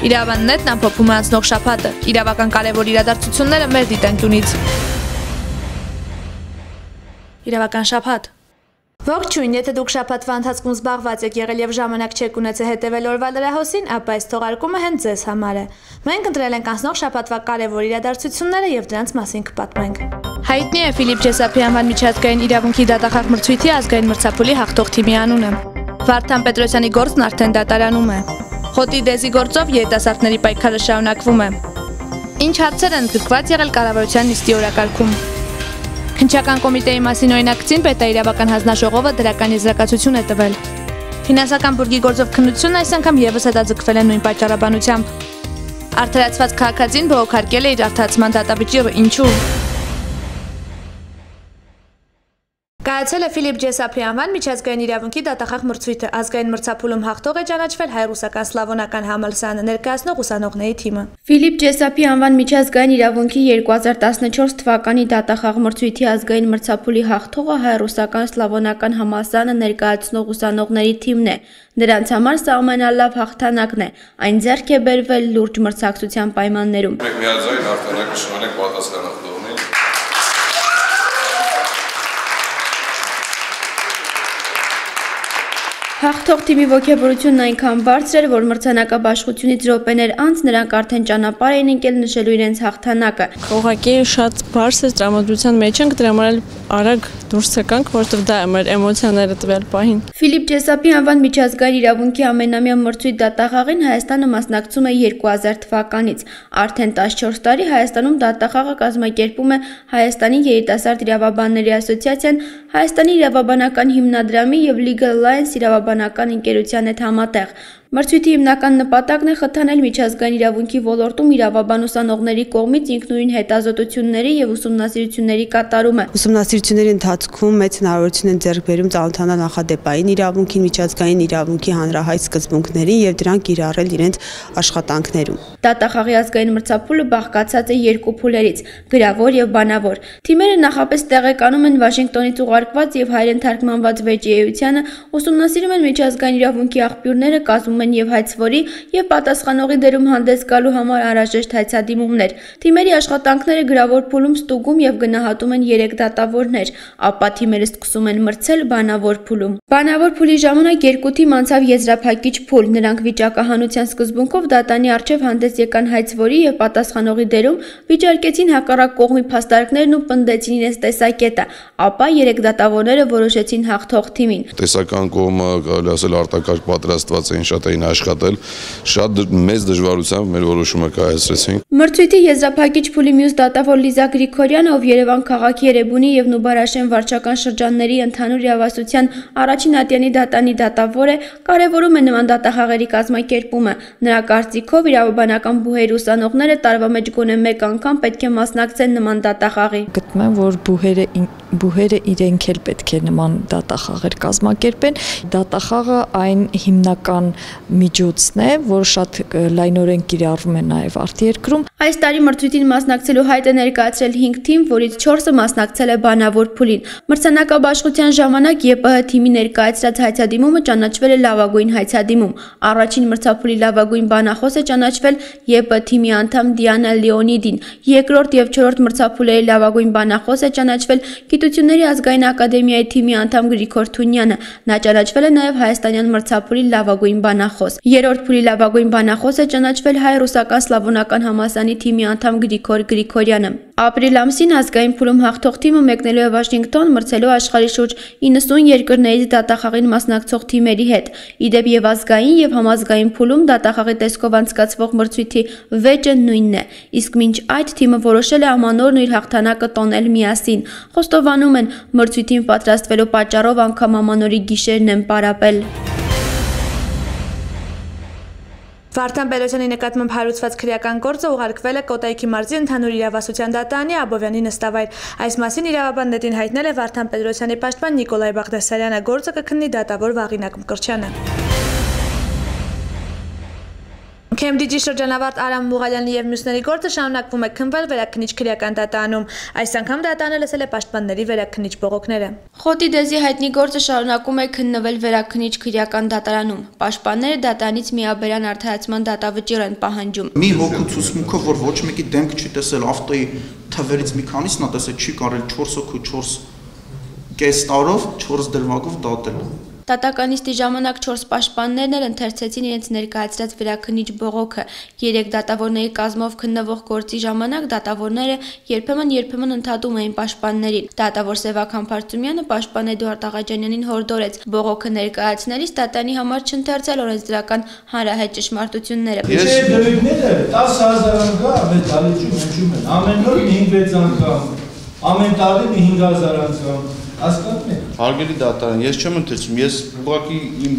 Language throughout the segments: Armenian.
Իրավաննետն ամփոփում է անցնող շաբաթը, իրավական կարևոր իրադարձությունները մեր դիտանկյունից։ Իրավական շաբաթ։ Ողջույն, եթե դուք շաբաթվա ընթացքում զբաղված եք եղել եւ ժամանակ չեք ունեցել հետեւել օրվա լրահոսին, ապա այս թողարկումը հենց ձեզ համար է։ Մենք ընտրել ենք անցնող շաբաթվա կարևոր իրադարձությունները եւ դրանց մասին կպատմենք։ Հայտնի է Ֆիլիպ Ջեսապի անվան միջազգային իրավունքի դատախաղ մրցույթի ազգային մրցափուլի հաղթող թիմի անունը։ Վարդան Պետրոսյանի գործն արդեն դատարանում է։ Խոտի դեզի գործով երիտասարդների պայքարը շարունակվում է։ Ինչ հարցեր են ընդգրկված եղել կառավարության նիստի օրակարգում։ Քննչական կոմիտեի մասին օրինակցին պետաիրավական հանձնաժողովը դրական եզրակացություն է տվել։ Ֆինանսական բուրգի գործով քննությունն այս անգամ եւս հետաձգվել է նույն պատճառաբանությամբ։ Արդարացված քաղաքացին բողոքարկել է իր արդարացման դատավճիռը, ինչու։ Կայացել է Ֆիլիպ Ջեսապի անվան միջազգային իրավունքի դատախաղ մրցույթը, ազգային մրցափուլում հաղթող է ճանաչվել հայ-ռուսական սլավոնական համալսարանը ներկայացնող ուսանողների թիմը։ Ֆիլիպ Ջեսապի անվան միջազգային իրավունքի 2014 թվականի դատախաղ մրցույթի ազգային մրցափուլի հաղթողը հայ-ռուսական սլավոնական համալսարանը ներկայացնող ուսանողների թիմն է։ Նրանց համար սա ամենալավ հաղթանակն է։ Այն ձեռք է բերվել լուրջ մրցակցության պայմաններում։ Մենք միաձայն հաղթանակը շնորհենք պատասխանատվողին։ Հաղթող թիմի ոգևորությունն այնքան բարձր էր, որ մրցանակաբաշխությունից րոպեներ անց նրանք արդեն ճանապարհ էին ընկել նշելու իրենց հաղթանակը։ Ուղղակի շատ բարձր տրամադրության մեջ ենք, դրա համար արագ դուրս եկանք, որովհետև դա է մեր էմոցիաները տվել պահին։ Ֆիլիպ Ջեսապի անվան միջազգային իրավունքի ամենամյա մրցույթ դատախաղին Հայաստանը մասնակցում է 2000 թվականից։ Արդեն 14 տարի Հայաստանում դատախաղը կազմակերպում է Հայաստանի երիտասարդ իրավաբանների ասոցիացիան, Հայաստանի իրավաբանական հիմնադրամի եւ Legal Alliance իրավաբանական ընկերության հետ համատեղ։ Մրցույթի հիմնական նպատակն է խթանել միջազգային իրավունքի ոլորտում իրավաբան ուսանողների կողմից ինքնուրույն հետազոտությունների եւ ուսումնասիրությունների կատարումը։ Ուսումնասիրությունների ընթացքում մեծ հնարավորություն են ձեռք բերում ծանոթանալ նախադեպային իրավունքին, միջազգային իրավունքի հանրահայտ սկզբունքներին եւ դրանք կիրառել իրենց աշխատանքներում։ Դատախաղի ազգային մրցափուլը բաղկացած է երկու փուլերից՝ գրավոր եւ բանավոր։ Թիմերը նախապես տեղեկանում են Վաշինգտոնից ուղարկված եւ հայերեն թարգմանված վեճի էությանը, ուսումնասիրում են միջազգային իրավունքի աղբյուրները, կազմում են եւ հայցվորի եւ պատասխանողի դերում հանդես գալու համար անհրաժեշտ հայցադիմումներ։ Թիմերի աշխատանքները գրավոր փուլում ստուգում եւ գնահատում են 3 դատավորներ, ապա թիմերը սկսում են մրցել բանավոր փուլում։ Բանավոր փուլի ժամանակ երկու թիմ անցավ եզրափակիչ փուլ։ Նրանք վիճակահանության սկզբունքով դատանի առջև հանդես եկան հայցվորի եւ պատասխանողի դերում, վիճարկեցին հակառակ կողմի փաստարկներն ու պնդեցին իրենց տեսակետը, ապա 3 դատավորները որոշեցին հաղթող թիմին։ Տեսական կողմը կարելի ասել արտակարգ պատրաստված էին, շատ էին աշխատել, շատ մեծ դժվարությամբ մեր որոշումը կայացրեցինք։ Մրցույթի եզրափակիչ փուլի մյուս դատավոր Լիզա Գրիգորյանը, ով Երևան քաղաքի Երևանի եւ Նուբարաշեն վարչական շրջանների ընդհանուր իրավասության առաջին ատյանի դատանի դատավոր է, կարևորում է նման դատախաղերի կազմակերպումը։ Նրա կարծիքով իրավաբանական բուհերի ուսանողները տարվա մեջ գոնե մեկ անգամ պետք է մասնակցեն նման դատախաղի։ Գտնում եմ, որ բուհերը իրենք էլ պետք է նման դատախաղեր կազմակերպեն։ Դատախաղը այն հիմնական միջոցն է, որ շատ լայնորեն կիրառվում է նաև արտերկրում։ Այս տարի մրցույթին մասնակցելու հայտ է ներկայացրել 5 թիմ, որից 4-ը մասնակցել է բանավոր փուլին։ Մրցանակաբաշխության ժամանակ ԵՊՀ թիմի ներկայացրած հայցադիմումը ճանաչվել է լավագույն հայցադիմում։ Առաջին մրցափուլի լավագույն բանախոս է ճանաչվել ԵՊՀ թիմի անդամ Դիանա Լեոնիդին։ Երկրորդ եւ չորրորդ մրցափուլերի լավագույն բանախոս է ճանաչվել Գիտությունների ազգային ակադեմիայի թիմի անդամ Գրիգոր Թունյանը։ Նա ճանաչվել է նաև հայաստանյան մրցափուլի լավագույն բանախոս։ Երրորդ փուլի լավագույն բանախոս է ճանաչվել հայ-ռուսական սլավոնական համալսարանի թիմի անդամ Գրիգոր Գրիգորյանը։ Ապրիլ ամսին ազգային փուլում հաղթող թիմը մեկնելու է Վաշինգտոն մրցելու աշխարհի շուրջ 90 երկրներից դատախաղին մասնակցող թիմերի հետ։ Իդեպ եւ ազգային եւ համազգային փուլում դատախաղի տեսքով անցկացվող մրցույթի վեճը նույնն է։ Իսկ մինչ այդ թիմը որոշել է ամանորն իր հաղթանակը տոնել միասին։ Խոստովանում են, մրցույթին պատրաստվելու պատճառով անգամ ամանորի գիշերն են պարապել։ Վարդան Պետրոսյանի նկատմամբ հարուցված քրեական գործը ուղարկվել է Կոտայքի մարզի ընդհանուր իրավասության դատարանի Աբովյանի նստավայր։ Այս մասին իրավաբաններին հայտնել է Վարդան Պետրոսյանի պաշտպան Նիկոլայ Բաղդասարյանը, գործը կքննի դատավոր Վաղինակ Մկրտչյանը։ Քեմբրիջի շրջանավարտ Արամ Մուղալյանի եւ մյուսների գործը շարունակվում է քննվել վերաքննիչ քրեական դատարանում։ Այս անգամ դատարանը լսել է պաշտպանների վերաքննիչ բողոքները։ Խոտի դեզի հայտնի գործը շարունակում է քննվել վերաքննիչ քրեական դատարանում։ Պաշտպանները դատարանից միաբերան արդարացման դատավճիռ են պահանջում։ Մի հոգու ցուցմունքը, որ ոչ մեկի դեմք չի տեսել ավտոյի թվերից մի քանիսն է տեսել, չի կարել 4 հոգու 4 տարով 4 դրվագով դատել։ Դատականիստի ժամանակ 4 պաշտպաններն էլ ընթերցեցին իրենց ներկայացրած վերաքննիչ բողոքը։ 3 դատավորների կազմով քննվող գործի ժամանակ դատավորները երբեմն ընդհատում էին պաշտպաններին։ Դատավոր Սևակ Համբարձումյանը պաշտպան Էդուարդ Աղաջանյանին հորդորեց բողոքը ներկայացնելիս դատարանի համար չընթերցել օրենսդրական հանրահայտ ճշմարտությունները։ Ես դեպքերը 10,000 անգամ այդ դալիճում հնչում են։ Ամեն օր 5-6 անգամ, ամեն տարի 5,000 անգամ։ Հասկանում եք։ Հարգելի դատարան, ես չեմ ընթերցում, ես ուղղակի իմ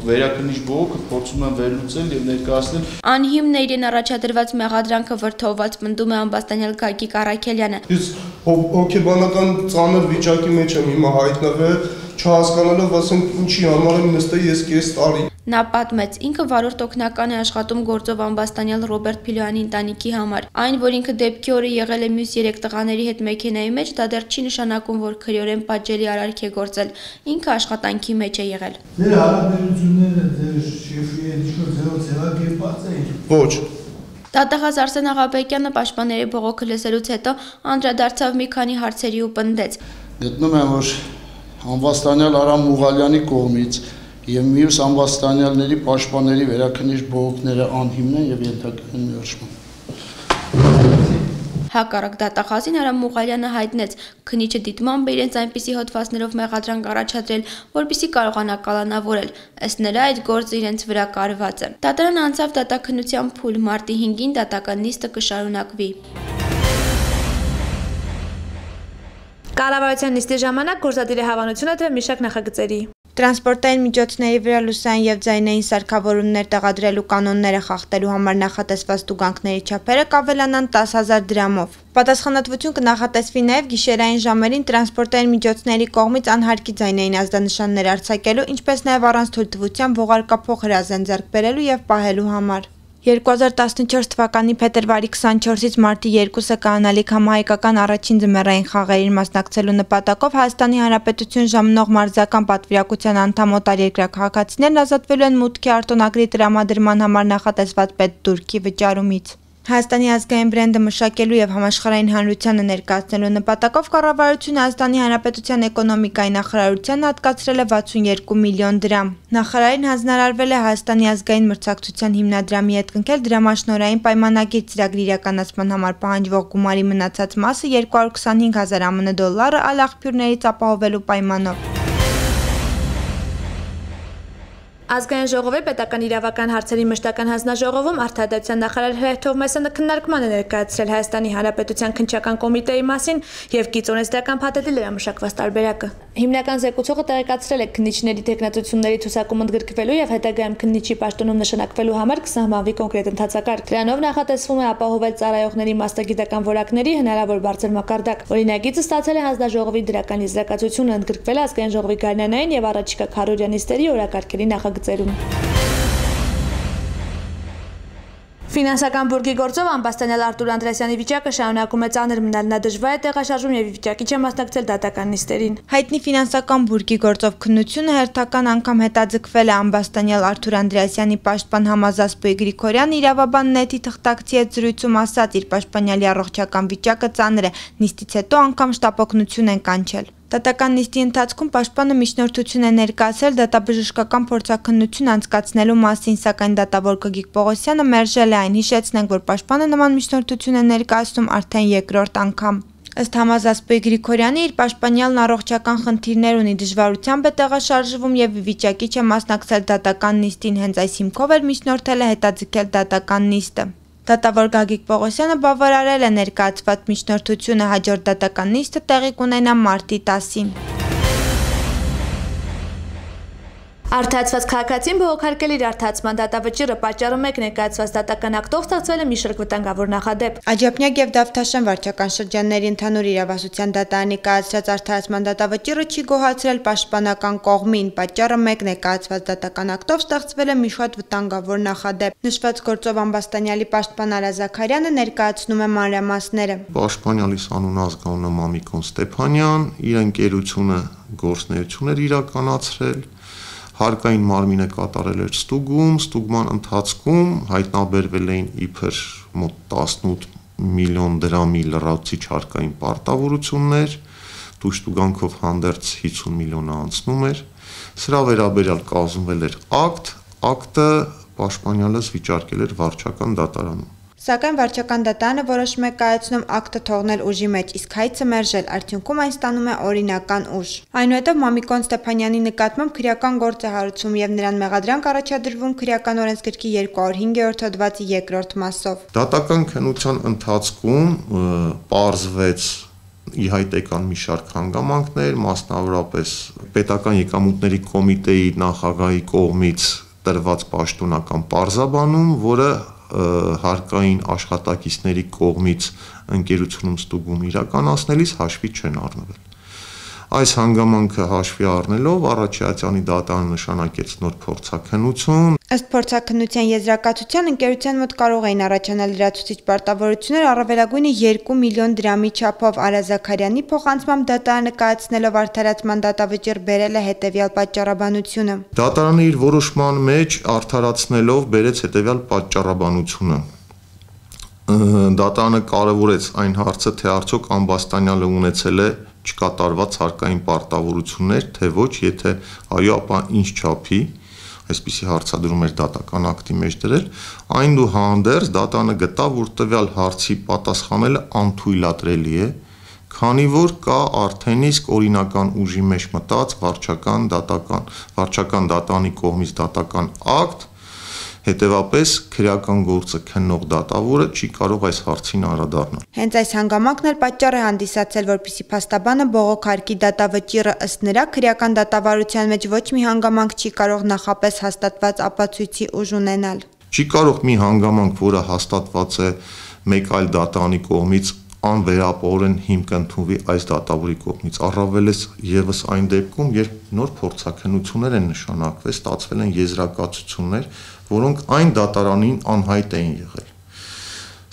վերաքննիչ բողոքը փորձում եմ վերլուծել եւ ներկայացնել։ Անհիմն է իրեն առաջադրված մեղադրանքը վրդովված պնդում է ամբաստանյալ Գագիկ Առաքելյանը։ Ես հոգեբանական ծանր վիճակի մեջ եմ հիմա հայտնվել, չհասկանալով ասենք ինչի համար եմ նստել ես կես տարի։ Նա պատմեց, ինքը վարորդ օգնական է աշխատում գործով ամբաստանյալ Ռոբերտ Փիլոյանի ընտանիքի համար։ Այն, որ ինքը դեպքի օրը եղել է մյուս 3 տղաների հետ մեքենայի մեջ, դա դեռ չի նշանակում, որ քրեորեն պատժելի արարք է գործել։ Ինքը աշխատանքի մեջ է եղել։ Ձեր հարաբերությունները ձեր շեֆի հետ ձևակերպած էին։ Ոչ։ Դատախազ Արսեն Աղաբեկյանը պաշտպանների բողոքը լսելուց հետո անդրադարձավ մի քանի հարցերի ու պնդեց։ Գտնում եմ, որ ամբաստանյալ Արամ Մուղալյանի կողմից եւ մյուս ամբաստանյալների պաշտպանների վերաքննիչ բողոքները անհիմն են եւ ենթակա են մերժման։ Հակառակ դատախազին Արամ Մուղալյանը հայտնեց, քննիչը դիտմամբ է իրենց այնպիսի հոդվածներով մեղադրանք առաջադրել, որպեսզի կարողանա կալանավորել։ Ըստ նրա այդ գործը իրենց վրա կարված է։ Դատարանը անցավ դատաքննության փուլ, մարտի 5-ին դատական նիստը կշարունակվի։ Կառավարության նիստի ժամանակ գործադիրի հավանությունը դրել մի շարք նախագծերի։ Տրանսպորտային միջոցների վրա լուսային եւ ձայնային սարքավորումներ տեղադրելու կանոնները խախտելու համար նախատեսված տուգանքների չափերը կավելանան 10,000 դրամով։ Պատասխանատվություն կնախատեսվի նաեւ գիշերային ժամերին տրանսպորտային միջոցների կողմից անհարկի ձայնային ազդանշաններ արձակելու, ինչպես նաեւ առանց թույլտվության ողարկափող հրազեն ձեռք բերելու եւ պահելու համար։ 2014 թվականի փետրվարի 24-ից մարտի 2-ը կանալիք համահայկական առաջին ձմեռային խաղերին մասնակցելու նպատակով Հայաստանի Հանրապետություն ժամանող մարզական պատվիրակության անդամ օտարերկրյա քաղաքացիներն ազատվելու են մուտքի արտոնագրի տրամադրման համար նախատեսված պետդուրքի վճարումից։ Հայաստանի ազգային բրենդը մշակելու եւ համաշխարհային հանրությանը ներկայացնելու նպատակով կառավարությունը Հայաստանի Հանրապետության էկոնոմիկայի նախարարությանը հատկացրել է 62 միլիոն դրամ։ Նախարարին հանձնարարվել է Հայաստանի ազգային մրցակցության հիմնադրամի հետ կնքել դրամաշնորհային պայմանագիր ծրագրի իրականացման համար պահանջվող գումարի մնացած մասը 225,000 ԱՄՆ դոլարը այլ աղբյուրներից ապահովելու պայմանով։ Ազգային ժողովի պետական իրավական հարցերի մշտական հանձնաժողովում արտադրության նախարար Հրայր Թովմասյանը քննարկման է ներկայացրել Հայաստանի Հանրապետության քննչական կոմիտեի մասին եւ կիծոնեստական փաթեթի լրամշակված տարբերակը։ Հիմնական զեկուցողը տեղեկացրել է քննիչների տեխնատությունների ցուցակում ընդգրկվելու եւ հետագայում քննիչի պաշտոնում նշանակվելու համար կսահմանվի կոնկրետ ընթացակարգ։ Դրանով նախատեսվում է ապահովել ծառայողների մասնագիտական որակների հնարավոր բարձր մակարդակ։ Օրինագիծը ստացել է հանձնաժողովի դրական եզրակացությունը, ընդգրկվել ազգային ժողովի գարնանային եւ առաջիկա քարորյա նիստերի օրակարգերի նախագծերում։ Ֆինանսական բուրգի գործով ամբաստանյալ Արտուր Անդրեասյանի վիճակը շարունակում է ծանր մնալ, նա դժվար է տեղաշարժում եւ վիճակի չէ մասնակցել դատական նիստերին։ Հայտնի ֆինանսական բուրգի գործով քննությունը հերթական անգամ հետաձգվել է ամբաստանյալ Արտուր Անդրեասյանի պաշտպան Համազասպոյ Գրիգորյանը իրավաբան Նետի թղթակցի հետ զրույցում ասաց, իր պաշտպանյալի առողջական վիճակը ծանր է, նիստից հետո անգամ շտապօգնություն են կանչել։ Դատական նիստի ընթացքում պաշտպանը միջնորդություն է ներկայացրել դատաբժշկական փորձաքննություն անցկացնելու մասին, սակայն դատավոր Գագիկ Պողոսյանը մերժել է այն, հիշեցնենք, որ պաշտպանը նման միջնորդություն է ներկայացնում արդեն երկրորդ անգամ։ Ըստ Համազասպոյ Գրիգորյանի իր պաշտպանյալն առողջական խնդիրներ ունի, դժվարությամբ է տեղաշարժվում եւ վիճակի չէ մասնակցել դատական նիստին, հենց այս հիմքով էլ միջնորդել է հետաձգել դատական նիստը։ Դատավոր Գագիկ Պողոսյանը բավարարել է ներկայացված միջնորդությունը, հաջորդ դատական նիստը տեղի կունենա մարտի 10-ին։ Արդարացված քաղաքացին բողոքարկել իր արդարացման դատավճիռը պատճառը մեկ ներկայացված դատական ակտով ստեղծվել է մի շարք վտանգավոր նախադեպ։ Աջափնյակ եւ Դավթաշեն վարչական շրջանների ընդհանուր իրավասության դատարանի կայացրած արդարացման դատավճիռը չի գոհացրել պաշտպանական կողմին, պատճառը մեկ ներկայացված դատական ակտով ստեղծվել է մի շարք վտանգավոր նախադեպ։ Նշված գործով ամբաստանյալի պաշտպան Արա Զաքարյանը ներկայացնում է մանրամասները։ Պաշտպանյալիս անունը ազգանունը Մամիկոն Ստեփանյան, իր ընկերությունը գործունեություն էր իրականացրել, հարկային մարմինը կատարել էր ստուգում, ստուգման ընթացքում հայտնաբերվել էին իբր մոտ 18 միլիոն դրամի լրացուցիչ հարկային պարտավորություններ, տուժտուգանքով հանդերձ 50 միլիոնը անցնում էր, սրա վերաբերյալ կազմվել էր ակտը պաշտպանյալս վիճարկել էր վարչական դատարանում։ Սակայն վարչական դատարանը որոշում է կայացնում ակտը թողնել ուժի մեջ, իսկ հայցը մերժել, արդյունքում այն ստանում է օրինական ուժ։ Այնուհետև Մամիկոն Ստեփանյանի նկատմամբ քրեական գործ է հարուցվում եւ նրան մեղադրանք առաջադրվում քրեական օրենսգրքի 205-րդ հոդվածի 2-րդ մասով։ Դատական քննության ընթացքում պարզվեց ի հայտ եկան մի շարք հանգամանքներ, մասնավորապես պետական եկամուտների կոմիտեի նախագահի կողմից տրված պաշտոնական պարզաբանում, որը հարկային աշխատակիցների կողմից ընկերությունում ստուգում իրականացնելիս հաշվի չեն առնվել։ Այս հանգամանքը հաշվի առնելով Առաջիացյանի դատարանը նշանակեց նոր փորձաքննություն։ Ըստ փորձաքննության եզրակացության ընկերության մոտ կարող էին առաջանալ լրացուցիչ պարտավորություններ առավելագույնը 2 միլիոն դրամի չափով։ Արա Զաքարյանի փոխանցմամբ դատարանը կայացնելով արդարացման դատավճիռ բերել է հետևյալ պատճառաբանությունը։ Դատարանը իր որոշման մեջ արդարացնելով բերեց հետևյալ պատճառաբանությունը։ Դատարանը կարևորեց այն հարցը, թե արդյոք ամբաստանյալը ունեցել է չկատարված հարկային պարտավորություններ, թե ոչ, եթե այո, ապա ինչ չափի, այսպիսի հարցադրում էր դատական ակտի մեջ դրել, այնուհանդերձ դատարանը գտավ, որ տվյալ հարցի պատասխանելը անթույլատրելի է, քանի որ կա արդեն իսկ օրինական ուժի մեջ մտած վարչական դատանի կողմից դատական ակտ, հետևապես քրեական գործը քննող դատավորը չի կարող այս հարցին անդրադառնալ։ Հենց այս հանգամանքն էլ պատճառ է հանդիսացել, որպեսզի փաստաբանը բողոքարկի դատավճիռը, ըստ նրա քրեական դատավարության մեջ ոչ մի հանգամանք չի կարող նախապես հաստատված ապացույցի ուժ ունենալ։ Չի կարող մի հանգամանք, որը հաստատված է մեկ այլ դատանի կողմից, անվերապահորեն հիմք ընդունվի այս դատավորի կողմից, առավելես ևս այն դեպքում, երբ նոր փորձաքննություններ են նշանակվել, ստացվել են եզրակացություններ, որոնք այն դատարանին անհայտ էին եղել։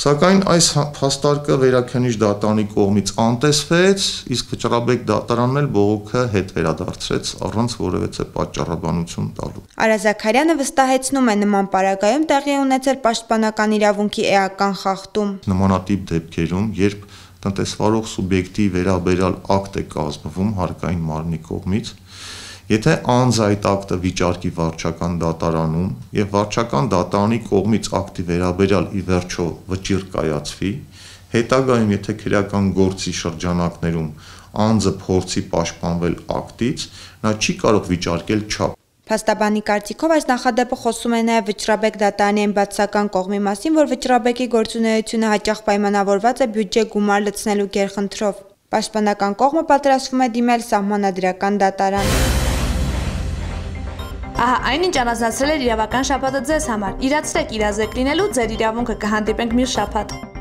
Սակայն այս փաստարկը վերաքննիչ դատարանի կողմից անտեսվեց, իսկ Վճռաբեկ դատարանն էլ բողոքը հետ վերադարձրեց առանց որևէ պատճառաբանություն տալու։ Արա Զաքարյանը վստահեցնում է, նման պարագայում տեղի է ունեցել պաշտպանական իրավունքի էական խախտում։ Նմանատիպ դեպքերում, երբ տնտեսվարող սուբյեկտի վերաբերյալ ակտ է կազմվում հարկային մարմնի կողմից, եթե անձ այդ ակտը վիճարկի վարչական դատարանում եւ վարչական դատարանի կողմից ակտի վերաբերյալ ի վերջո վճիռ կայացվի, հետագայում եթե քրեական գործի շրջանակներում անձը փորձի պաշտպանվել ակտից, նա չի կարող վիճարկել չափ։ Փաստաբանի կարծիքով այս նախադեպը խոսում է նաև Վճռաբեկ դատարանի այն բացասական կողմի մասին, որ Վճռաբեկի գործունեությունը հաճախ պայմանավորված է բյուջե գումար լցնելու գերխնդրով։ Պաշտպանական կողմը պատրաստվում է դիմել սահմանադրական դատարան։ Ահա այնինչ առանձնացրել էր իրավական շաբաթը ձեզ համար։ Իրացրեք իրազեկ լինելու, ձեր իրավունքը կհանդիպենք մյուս շաբաթ։